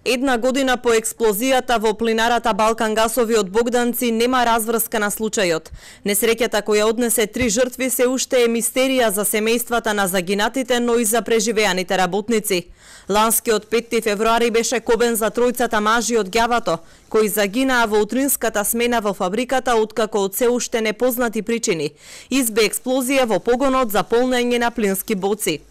Една година по експлозијата во плинарата Балкан Гасови од Богданци нема разврска на случајот. Несреќата која однесе 3 жртви се уште е мистерија за семејствата на загинатите, но и за преживеаните работници. Ланскиот 5 февруари беше кобен за тројцата мажи од ѓавато, кои загинаа во утринската смена во фабриката откако од се уште непознати причини избе експлозија во погонот за полнење на плински боци.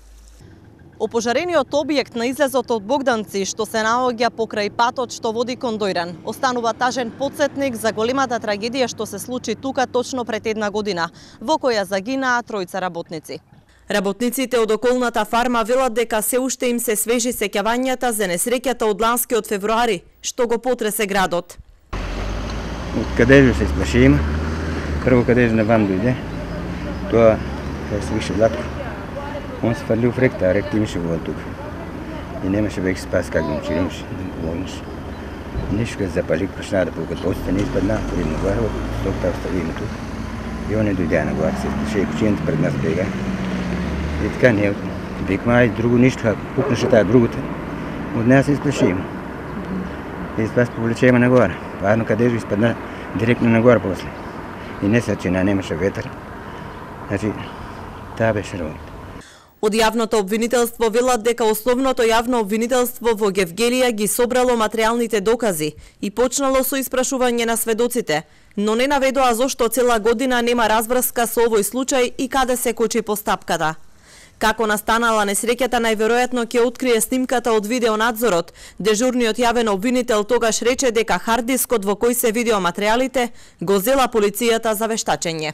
Опожарениот објект на излезот од Богданци, што се наоѓа покрај патот што води кон Дојран, останува тажен потсетник за големата трагедија што се случи тука точно пред една година, во која загинаа тројца работници. Работниците од околната фарма велат дека се уште им се свежи сеќавањата за несреќата од ланскиот февруари, што го потресе градот. Од кадежу се исплашиме, прво кадежу навам дојде, тоа се више Златко. Он се фрлил в ректа, а ректа имаше вода тук. И немаше веќе спас как да му чиримаш, да му помогнеш. Нещо като запалик, почна да пукат боците, не изпадна, ходим на горе, стопта оставиме тук. И он не дойде на горе, се изплаши и кучината пред нас бега. И така ние викаме, ай, друго нищо, ако пукнеше тая другата, от нея се изплашиме. И спас повлечеме нагоре. Падно кадежу изпадна директно нагоре после. И не се чина, немаше ветър. Значи, таа беше работа. Од јавното обвинителство велат дека основното јавно обвинителство во Гевгелија ги собрало материјалните докази и почнало со испрашување на сведоците, но не наведоа зошто цела година нема разврска со овој случај и каде се кочи постапката. Како настанала несреќата најверојатно ќе открие снимката од видеонадзорот. Дежурниот јавен обвинител тогаш рече дека хард дискот во кој се видеоматеријалите го зела полицијата за вештачење.